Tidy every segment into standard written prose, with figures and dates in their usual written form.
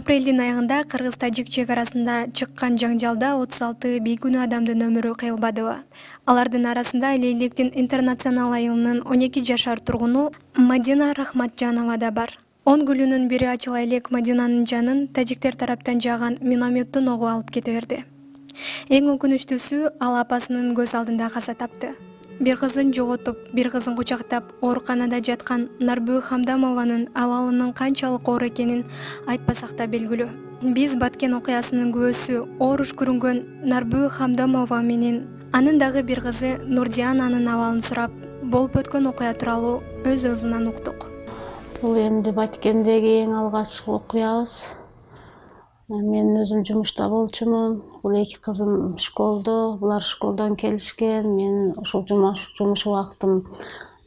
Апрелдин аягында кыргыз-тажик чек арасында чыккан жаңжалда 36 бейкүнөө адамдын өмүрү кыйылбадыбы. Алардын арасында Лейлектин интернационал айылынын 12 жашар тургуну Мадина Рахматжанова да бар. 10 күлүнүн бири ачыла элек Мадинанын жанын тажиктер тараптан жааган минометтун огу алып кете берди. Эң өкүнүчтүүсү, ал апасынын көз алдында каза тапты. Бир кызын жоготуп, бир кызын кучактап, ооруканада жаткан Нарбү Хамдамованын абалынын канчалык оор экенин айтпасак да белгилүү. Биз Баткен окуясынын күбөсү ооруш көрүнгөн Нарбү Хамдамова менен анын дагы бир кызы Нурдиананын абалын сурап, болуп өткөн окуя тууралуу өз өзүнөн уктук. Бул эмди Баткендеги эң алгачкы окуябыз. Мен өзүм жумушта болчумун. Бул эки кызым школдо, булар школдон келишкен. Мен ошол жумуш убактым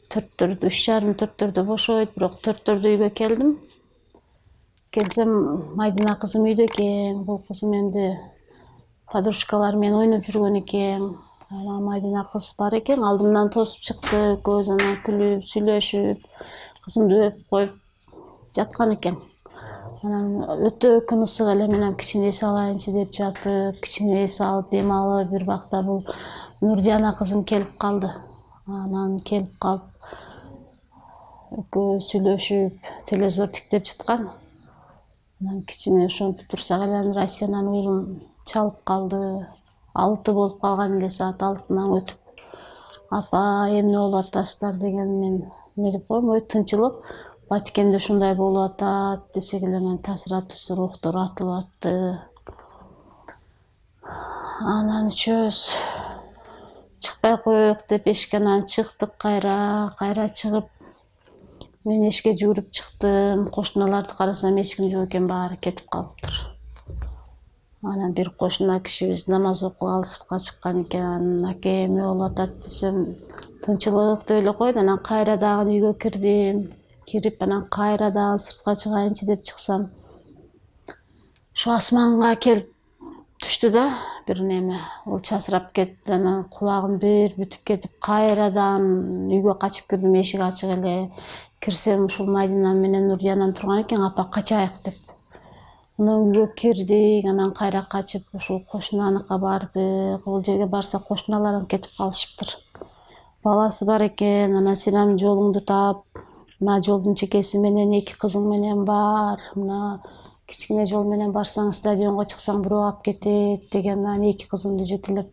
3:30-4:00 бошойт, бирок 4:00 үйгө келдим. Келсем, Майдина кызым үйдө экен. Бул кызым эмди подружкалары менен ойноп жүргөн экен. Майдина кыз бар экен, алдымдан тосуп чыкты, экөөбүз анан күлүп, сүйлөшүп, кызымды өпүп коюп жаткан экен. Анан өтө күн ысык эле, мен кичине эс алайынчы деп жатып, кичине эс алып, дем алып, бир бакта бул Нурдиана кызым келип калды. Анан келип калып, экөө сүйлөшүп, телевизор тиктеп жаткан. Анан кичине ошентип турсак эле анан Россиянын уулум чалып калды. 6 болуп калган эле, саат 6-нан өтүп. Апа, эмне болуп атасыздар деген мен деп коем, ой тынчылык. Баткенде ушундай болуп атат десек эле анан таасир атуусу рухтор атылып атты. Анан үчөөбүз чыкпай коелук деп эшиктен чыктык, кайра чыгып, мен эшикке жүгүрүп чыктым. Кошуналарды карасам, эч ким жок экен, баары кетип калыптыр. Анан бир кошуна кишибиз намаз окугалы сыртка чыккан экен. Аке, эмне болуп атат десем, тынчылык деп эле койду. Анан кайра дагы үйгө кирдим. Кирип, анан кайра дагы сыртка чыгайынчы деп чыксам, ушу асманга келип түштү да бир неме. Ол часырап кетти, анан кулагым бир бүтүп кетип, кайрадан үйгө качып кирдим, эшик ачык эле. Кирсем, ушул Майдина менен Нурдианам турган экен, апа качайык деп. Анан үйгө кирдик, анан кайра качып, ушул кошунаныкка бардык. Ол жерге барсак, кошуналарым кетип калышыптыр. Баласы бар экен, анан сен жолуңду таап, мына жолдун чекеси менен 2 кызың менен бар, мына кичине жол менен барсаң, стадионго чыксаң бирөө алып кетет деген. Анан 2 кызымды жетелеп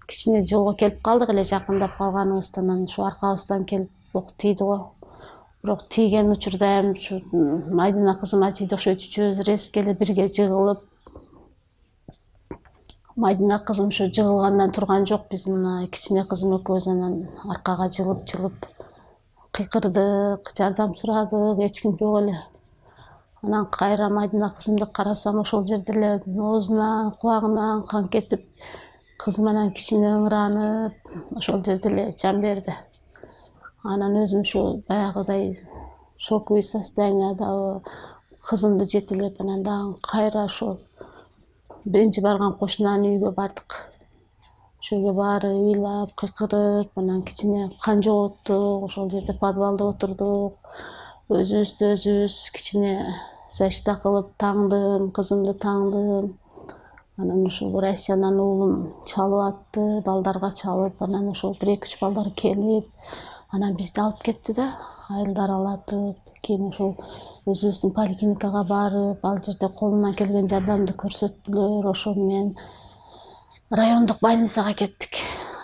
кичине жолго келип калдык эле, жакындап калганыбыздан. Анан ушу аркабыздан келип ок тийди го. Бирок тийген учурда ушу Майдина кызыма тийди окшойт. Үчөөбүз резко эле бирге жыгылып, Майдина кызым ушу жыгылгандан турган жок. Биз мына кичине кызым экөөбүз анан аркага жылып кыйкырдык, жардам сурадык, эч ким жок эле. Анан кайра Майдина кызымды карасам, ошол жерде эле оозунан, кулагынан кан кетип, кызым анан кичине ыңыранып, ошол жерде эле жан берди. Анан өзүм ушу баягыдай шоковый состоянияда кызымды жетелеп, анан дагы кайра ошол биринчи барган кошунанын үйгө бардык. Ошол жерге баары ыйлап, кыйкырып, анан кичине кан жоготтук, ошол жерде подвалда отурдук. Өзүбүздү өзүбүз кичине защита кылып таңдым, кызымды таңдым. Анан ушул Россиянын уулум чалып атты, балдарга чалып, анан ошол 1-2-3 балдар келип, анан бизди алып кетти да, айылдар алатып, кийин ошол өзүбүздүн поликлиникага барып, ал жерде колунан келген жардамды көрсөттүлөр. Ошол менен райондук больницага кеттик.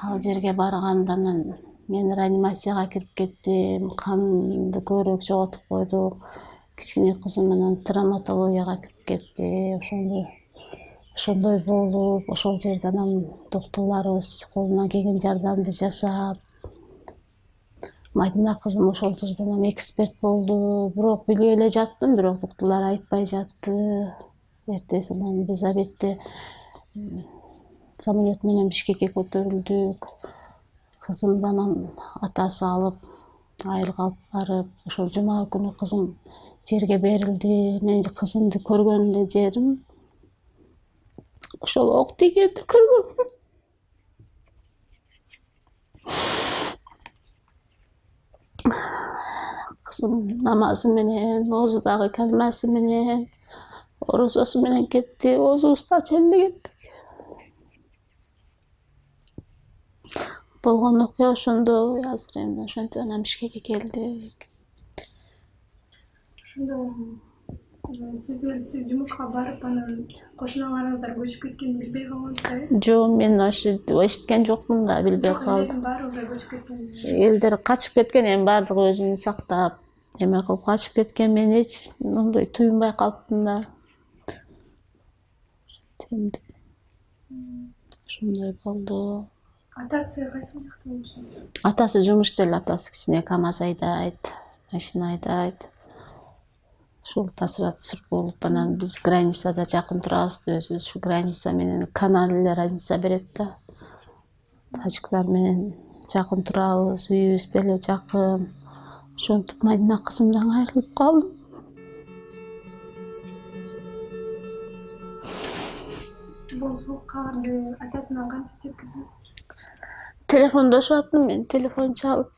Ал жерге барганда мен реанимацияга кирип кеттим, канды көбүрөөк жоготуп койдук. Кичине кызым анан травматологияга кирип кетти. Ошондой болуп, ошол жерде анан доктурларыбыз колунан келген жардамды жасап, Майдина кызым ошол жерде анан эксперт болду. Бирок билбей эле жаттым, бирок доктурлар айтпай жатты. Эртеси анан биз обедте самолет менен Бишкекке көтөрүлдүк. Кызымды анан атасы алып, айылга алып барып, ошол жума күнү кызым жерге берилди. Мен кызымды көргөн эле жерим ошол ок тийгенди көргөм. Кызым намазы менен, оозу дагы калмасы менен, орозосу менен кетти, оозубузду черлеген. Болгон окуя ошондой, азыр эми ошентип анан Бишкекке келдик. Ошондо сиз жумушка барып анан кошуналарыңыздар көчүп кеткенин билбей калгансыздар? Жок, мен ошо эшиткен жокмун да, билбей калдым. Баары уже көчүп кеткен. Элдер качып кеткен, эми баардыгы өзүн сактап, эме кылып качып кеткен. Мен эч мындай туюнбай калыптым да. Ошондой болду. Атасы кайсы жакта болчу? Атасы жумушта эле, атасы кичине КамАЗ айдайт, машина айдайт. Ушул таасират түсүрүп болуп, анан биз границада жакын турабыз, өзүбүз ушу граница менен канал эле разница берет да. Тажиктар менен жакын турабыз, үйүбүз деле жакын. Ошентип Мадина кызымдан айрылып калдым. Бул суук кабарды атасына кантип жеткиздиңиз? Телефондошуп аттым мен, телефон чалып.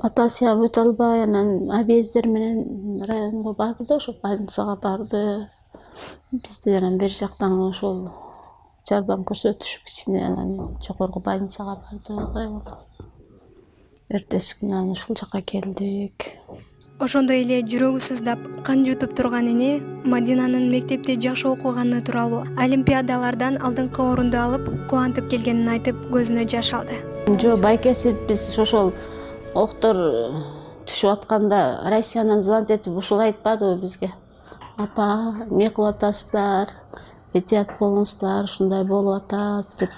Атасы өтө албай, анан объезддер менен районго барды да, ошо больницага барды. Бизди анан бери жактан ошол жардам көрсөтүшүп кичине анан жогорку больницага бардык районго. Эртеси күнү анан ушул жака келдик. Ошондой эле жүрөгү сыздап, кан жутуп турган эне Мадинанын мектепте жакшы окуганы тууралуу, олимпиадалардан алдыңкы орунду алып, кубантып келгенин айтып, көзүнө жаш алды. Жок, байкеси биз ошол октор түшүп атканда Россиянан звонить этип ушул айтпадыбы бизге? Апа, эмне кылып атасыздар? Этият болуңуздар, ушундай болуп атат деп.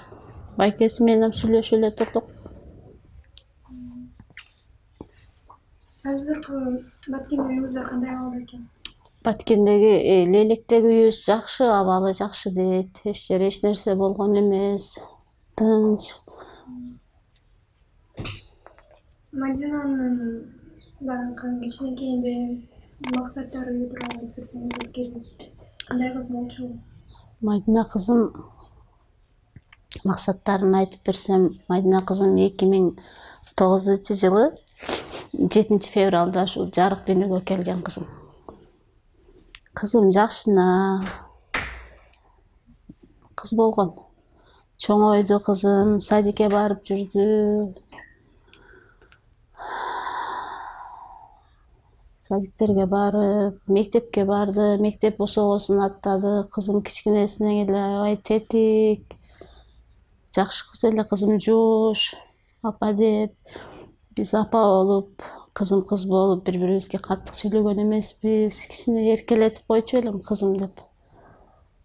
Байкеси менен сүйлөшүп эле турдук. Азыркы Баткендеги үйүңүздөр кандай абалда экен? Баткендеги Лелектеги үйүбүз жакшы, абалы жакшы дейт. Эч жери эч нерсе болгон эмес. Тынч. Мадинанын баягы кичинекейинде максаттары тууралуу айтып берсеңиз келип. Кандай кыз болчу? Мадина кызым максаттарын айтып берсем, Мадина кызым 2009-жылы 7 февралда ушул жарык дүйнөгө келген кызым. Кызым жакшына кыз болгон. Чоңойду кызым, садикке барып жүрдү. Садиктерге барып, мектепке барды, мектеп босогосун аттады. Кызым кичинесинен эле аябай тетик, жакшы кыз эле, кызым жоош, апа деп. Биз апа болуп, кызым кыз болуп, бири-бирибизге каттык сүйлөгөн эмеспиз. Кичине эркелетип койчу элем кызым деп.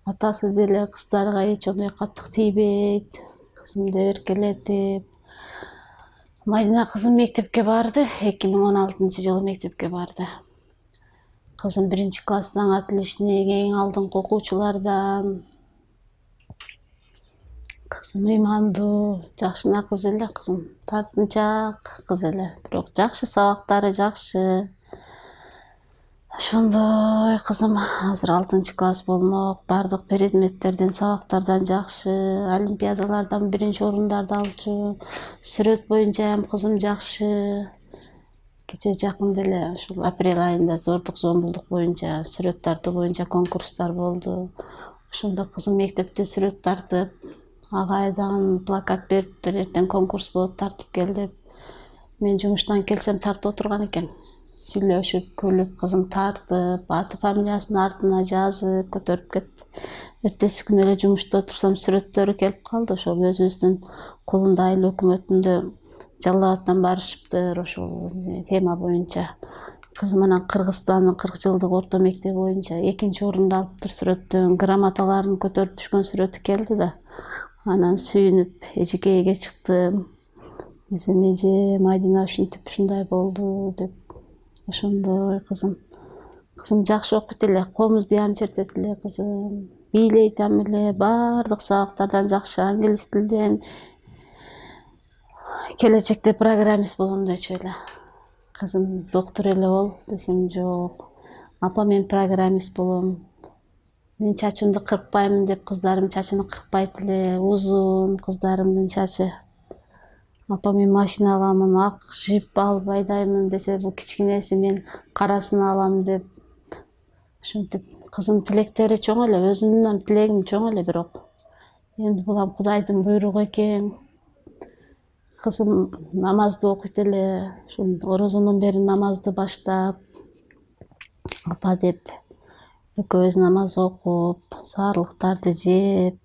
Атасы деле кыздарга эч ондой каттык тийбейт. Кызым деп эркелетип. Мадина кызым мектепке барды, 2016-жылы мектепке барды. Кызым 1-класстан отличник, эң алдыңкы окуучулардан. Кызым ыймандуу, жакшына кыз эле, кызым тартынчаак кыз эле, бирок жакшы, сабактары жакшы. Ошондой кызым азыр 6-класс болмок, бардык предметтерден, сабактардан жакшы, олимпиадалардан 1-орундарды алчу. Сүрөт боюнча ham кызым жакшы. Кече жакында эле ушул апрель айында зордук зомбулдук боюнча, сүрөт тартуу боюнча конкурстар болду. Ошондо кызым мектепте сүрөт тартып, агайдан плакат бериптир, эртең конкурс болот, тартып кел деп. Мен жумуштан келсем тартып отурган экен. Сүйлөшүп, күлүп, кызым тартып, аты фамилиясын артына жазып, көтөрүп кетти. Эртеси күнү эле жумушта отурсам, сүрөттөрү келип калды. Ошол өзүбүздүн кулунда айыл өкмөтүндө Жалал Абадтан барышыптыр, ошол тема боюнча. Кызым анан Кыргызстандын 40 жылдык орто мектеби боюнча 2-орунду алыптыр сүрөттөн. Грамоталарын көтөрүп түшкөн сүрөтү келди да. Анан сүйүнүп эжекейге чыктым. Эже, Мадина ушинтип ушундай болду деп. Ошондой кызым. Кызым жакшы окуйт эле, комузду ям чертет эле кызым. Бийлейт эле, бардык сабактардан жакшы, англис тилден. Келечекте программист болом дечү эле. Кызым доктор эле бол десем, жок. Апа, мен программист болом. Мен чачымды кыркпаймын деп, кыздарым чачын кыркпайт эле, узун кыздарымдын чачы. Апа мен машина аламын, ак жип алып айдаймын десе, бул кичинеси мен карасын алам деп. Ошентип кызым тилектери чоң эле, өзүмдүн тилегим чоң эле, бирок эми бул Кудайдын буйругу экен. Кызым намазды окуйт эле, ушул орозондон бери намазды баштап, апа деп экөөбүз намаз окуп, саарлыктарды жеп,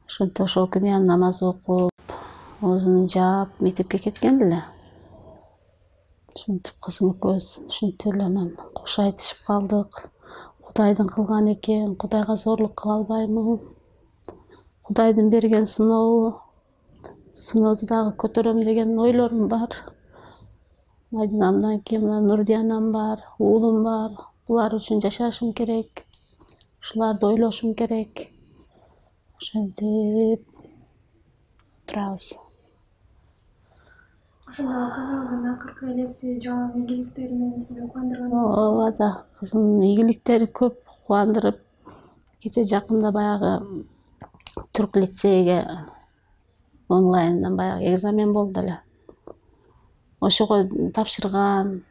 ошентип ошол күнү намаз окуп, оозун жаап, мектепке кеткен эле. Ошентип кызым экөөбүз ушинтип эле анан кош айтышып калдык. Кудайдын кылганы экен, Кудайга зорлук кыла албаймын. Кудайдын берген сынообу. Сынооду дагы көтөрөм деген ойлорум бар. Мадинамдан кийин мына Нурдиянам бар, уулум бар. Булар үчүн жашашым керек. Ушуларды ойлошум керек. Ошентип турабыз. Ошондо кызыңыздын акыркы элеси жана ийгиликтери менен сизди кубандырган? Ооба да, кызымдын ийгиликтери көп кубандырып, кече жакында баягы Түрк лицейге онлайндан баягы экзамен болду эле. Ошого тапшырган.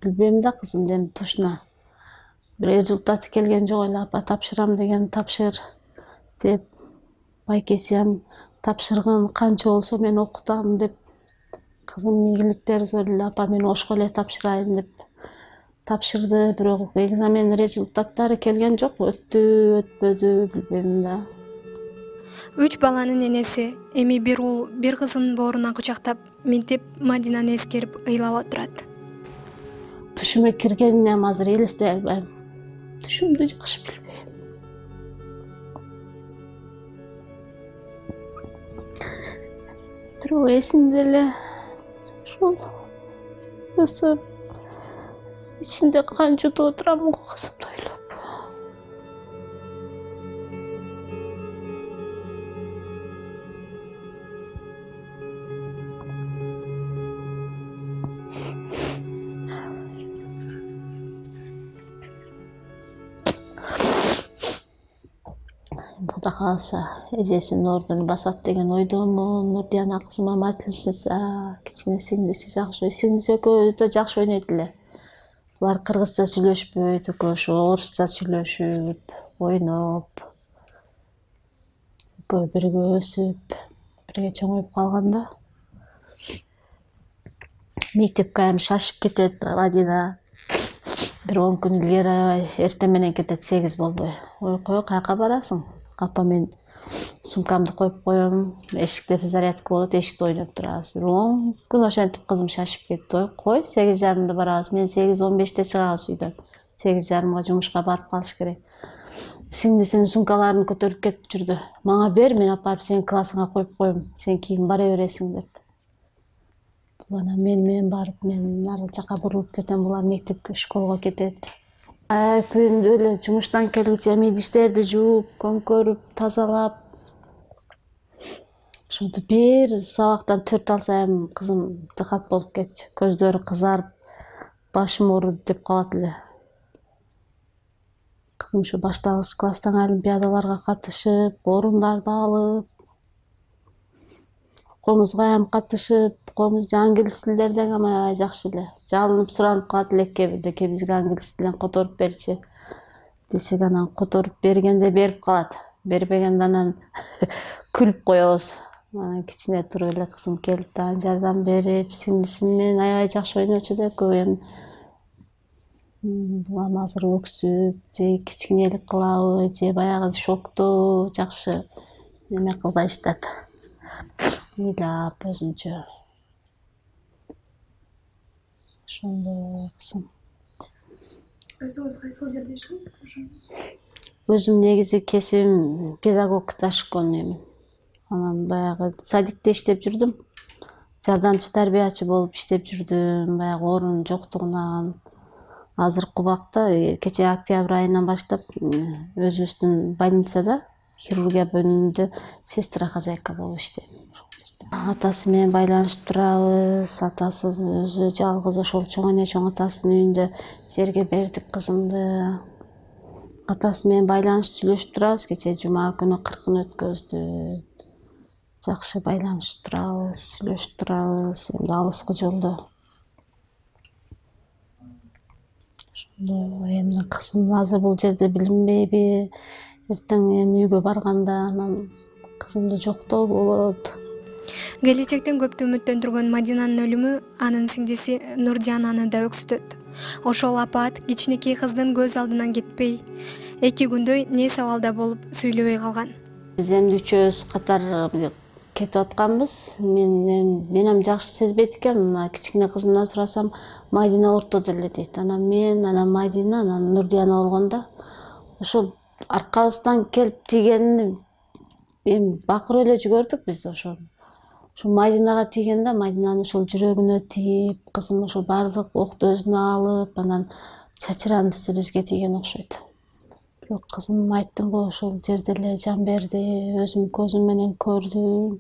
Билбейм да кызым эми точно. Бир результаты келген жок эле. Апа тапшырам деген тапшыр деп. Байкесем тапшыргын, канча болсо мен окутам деп. Кызымдын ийгиликтери зор эле. Апа мен ошко эле тапшырайын деп тапшырды. Бирок экзамен результаттары келген жок. Өттү, өтпөдү, билбейм да. 3 баланын энеси, эми бир уул, бир кызын бооруна кучактап, мектеп Мадинаны эскерип ыйлап отурат. Түшүмө киргенинен азыр элестей албайм. Түшүмдү жакшы билбейм. Бирок эсимде эле ушул ысып ичимде кан жутуп отурам го кызымды ойлоп. Кудай кааласа эжесинин ордуну басат деген ойдомун. Нурдияна кызыма майтылышса, кичине сиңдиси жакшы, сиңдиси экөө өтө жакшы ойнойт эле. Булар кыргызча сүйлөшпөйт, экөө орусча сүйлөшүп, ойноп, экөө бирге өсүп, бирге чоңоюп калган да. Мектепке эми шашып кетет Мадина. Бир 10 күн илгери аябай эртең менен кетет, 8 болбой. Ой кой, каяка барасың? Апа мен сумкамды коюп коем, эшикте зарядка болот, эшикте ойноп турабыз. Бир 10 күн ошентип кызым шашып кетти. Ой кой, 8:30 барабыз. Мен 8:15 чыгабыз үйдөн. 8:30 жумушка барып калыш керек. Сиңдисинин сумкаларын көтөрүп кетип жүрдү. Мага бер, мен апарып сенин классыңа коюп коем. Сен кийин бара бересиң деп. Анан мен барып, мен ар жака бурулуп кетем, булар мектепке, школго кетет. Күндү эле жумуштан келгиче идиштерди жууп, көмкөрүп, тазалап. Ошентип бир сабактан 4 алсам, кызым дыкат болуп кетчү. Көздөрү кызарып, башым ооруду деп калат эле. Кызым ушу башталгыч класстан олимпиадаларга катышып, орундарды алып, комузга ham катышып, комуз англис тилдерден аябай жакшы эле. Жалынып суранып калат эле кээ бизге англис тилин которуп берчи десек, анан которуп бергенде берип калат. Бербегенде анан күлүп коебуз. Анан кичине туруп эле кызым келип дагы жардам берип, сиңдиси менен аябай жакшы ойночу да, экөө эми азыр өксүп, же кичинелик кылабы, же баягы шокту жакшы эме кылбай иштат. Ыйлап өзүнчө. Ошондой кызым. Өзүңүз кайсыл жерде иштейсиз? Өзүм негизи кесибим педагог ташкон эми. Анан баягы садикте иштеп жүрдүм. Жардамчы тарбиячы болуп иштеп жүрдүм, баягы орун жоктугунан. Азыркы убакта кече октябрь айынан баштап өзүбүздүн больницада хирургия бөлүмүндө сестра хозяйка болуп иштейм. Атасы менен байланышып турабыз. Атасы өзү жалгыз, ошол чоң эне чоң атасынын үйүндө жерге бердик кызымды. Атасы менен байланышып сүйлөшүп турабыз. Кече жума күнү кыркын өткөздү. жакшы байланышып турабыз, сүйлөшүп турабыз, эми алыскы жолдо. Ошондо эми кызым азыр бул жерде билинбейби, эртең эми үйгө барганда анан кызымды жоктоо болот. Келечектен көптү үмүттөндүргөн Мадинанын өлүмү анын сиңдиси Нурдиананы да өксүтөт. Ошол апаат кичинекей кыздын көз алдынан кетпей, 2 күндөй не сабалда болуп сүйлөбөй калган. Биз эми үчөөбүз катар кетип атканбыз. Мен жакшы сезбейт экенмин. Мына кичине кызымдан сурасам, Мадина ортодо эле дейт. Анан мен, анан Мадина, анан Нурдиана болгондо ошол аркабыздан келип тийгенин эми бакырып эле жүгөрдүк биз ошол Мадинага тийгенде, Мадинанын ошол жүрөгүнө тийип, кызым ошол баардык окту өзүнө алып, анан чачырандысы бизге тийген окшойт. Бирок кызым айттым го, ошол жерде эле жан берди, өзүм көзүм менен көрдүм.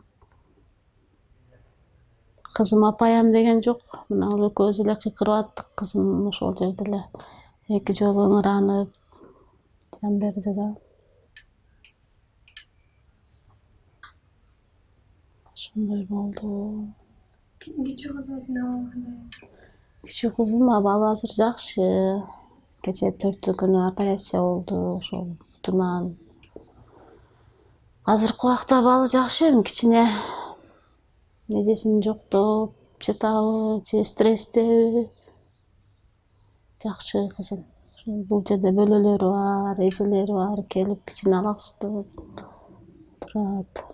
Кызым апайым деген жок, мына ал экөөбүз эле кыйкырып аттык. Кызым ошол жерде эле 2 жолу ыңыранып жан берди да. Ошондой болду. Кичүү кызыңыздын абалы кандай? Кичүү кызым абалы азыр жакшы. Кечээ 4 күнү операция болду ошол бутунан. Азыркы убакта абалы жакшы, кичине эжесин жоктоп жатабы, же стресстеби. Жакшы кызым. Бул жерде бөлөлөрү бар, эжелери бар, келип кичине алаксытып турат.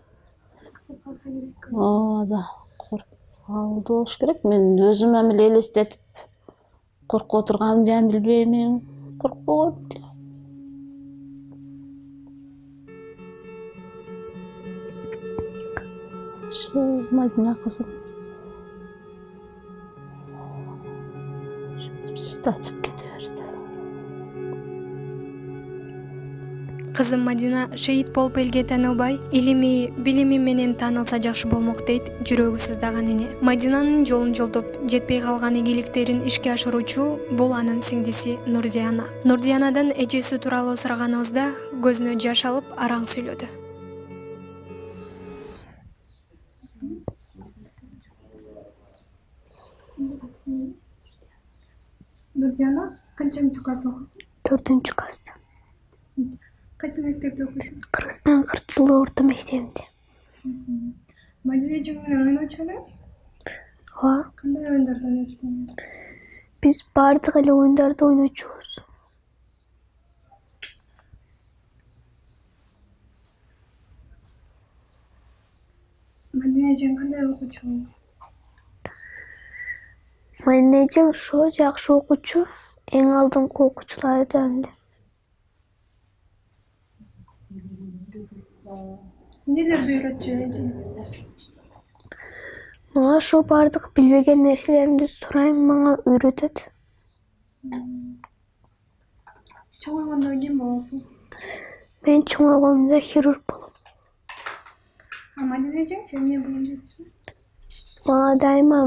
Да, коркуп болуш керек. Мен өзүм эле элестетип коркуп отурганымды да билбеймин. Коркпогон эле. Ошо Мадина кызым сытатып кете берди. Кызым Мадина шейит болуп элге таанылбай, илими, билими менен таанылса жакшы болмок дейт жүрөгү сыздаган эне. Мадинанын жолун жолдоп жетпей калган ийгиликтерин ишке ашыруучу бул анын сиңдиси Нурдиана. Нурдианадан эжеси тууралуу сураганыбызда көзүнө жаш алып араң сүйлөдү. Нурдиана канчанчы класс окуйсуң? 4 класста. Кайсы мектепте окуйсуң? Кыргызстан Кырчылуу орто мектебинде. Мадина эжең менен ойночу эле? Ооба. Кандай оюндарды ойнойсуң? Биз баардык эле оюндарды ойночубуз. Мадина эжең кандай окуучу? Мадина эжем ошо жакшы окуучу, эң алдыңкы окуучулардан эле. Эмнелерди үйрөтчү эжең? Мага ошо баардык билбеген нерселеримди сурайм, мага үйрөтөт. Чоңойгондо ким болосуң? Мен чоңойгондо хирург болом. Мадина эжең эмне болом депчи? Мага дайыма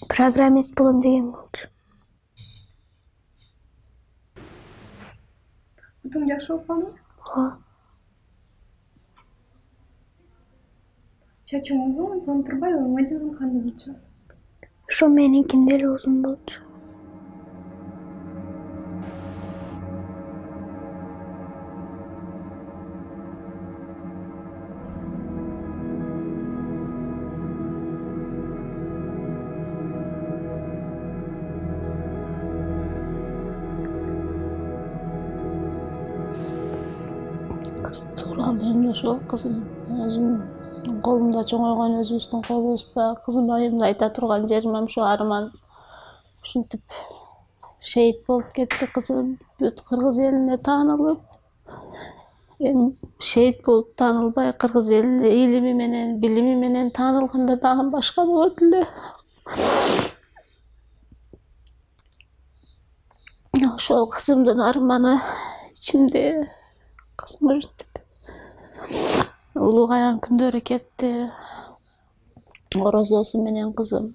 программист болом деген болчу. Бутуң жакшы болуп калдыбы? Ооба. Чачың узун, сонун турбайбы? Мадинанын кандай болчу? Ошо меникинде эле узун болчу. Кызым тууралуу эми ошол кызым өзүм колумда чоңойгон, өзүбүздүн колубузда. Кызым айымда айта турган жерим ошо арман. Ушинтип шейит болуп кетти кызым. Бүт кыргыз элине таанылып, эми шейит болуп таанылбай, кыргыз элине илими менен, билими менен таанылганда дагы башка болот эле. Ошол кызымдын арманы ичимде. Кызым улугайган күндөрү кетти. Орозосу менен кызым.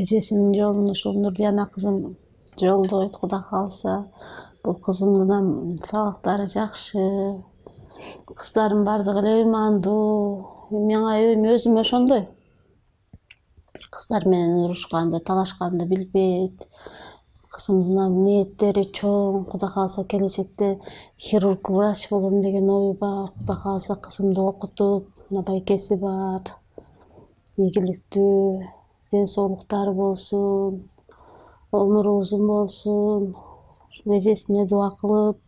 эжесинин жолун ушул Нурдияна кызым жолдойт, Кудай кааласа. Бул кызымдын сабактары жакшы, кыздардын баардыгы эле ыймандуу. Мага өзүм ошондой. Кыздар менен урушканды, талашканды билбейт. Кызымдын ниеттери чоң. Кудай кааласа келечекте хирург, врач болом деген ою бар. Кудай кааласа кызымды окутуп, мына байкеси бар. Ийгиликтүү ден соолуктары болсун, өмүрү узун болсун. Эжесине дуа кылып,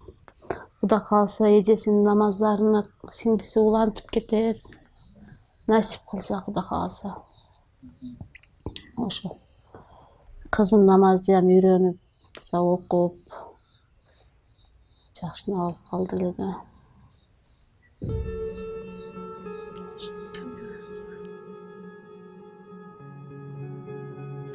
Кудай кааласа эжесинин намаздарына сиңдиси улантып кетет. Насип кылса, Кудай кааласа. Ошо. Кызым намаздыам үйрөнүп, окуп, жакшына болуп калды эле да.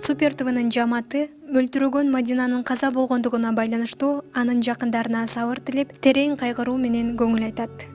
Супер ТВнын жамааты өлтүрүлгөн Мадинанын каза болгондугуна байланыштуу анын жакындарына сабыр тилеп, терең кайгыруу менен көңүл айтат.